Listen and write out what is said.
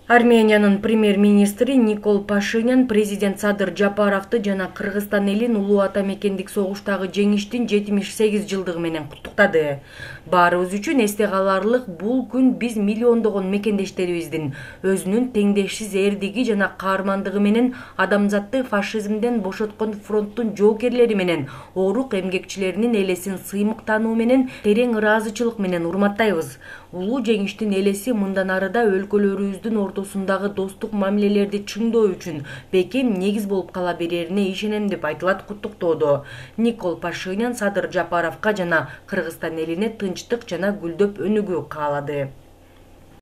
Армениянын премьер-министри Никол Пашинян президент Садыр Жапаровду жана Кыргызстан элин улуу ата мекендик согуштагы жеңиштин 78 жылдыгы менен куттуктады. Баарыбыз үчүн эсте каларлык бул күн биз миллиондогон мекендештерибиздин өзүнүн теңдешсиз эрдиги жана каармандыгы менен адамзатты фашизмден бошоткон фронттун жоокерлери менен оорук эмгекчилеринин элесин сыймыктануу менен терең ыраазычылык менен урматтайбыз. Улуу жеңиштин элеси мындан арыда өлкөлөрүбүздүн ортосундагы достук мамилелерди чыңдоо үчүн бекем негиз болуп кала берерине ишенем деп айтылат куттуктоодо. Никол Пашинян Садыр Жапаровго жана Кыргызстан элине тынчтык жана гүлдөп өнүгүү каалады.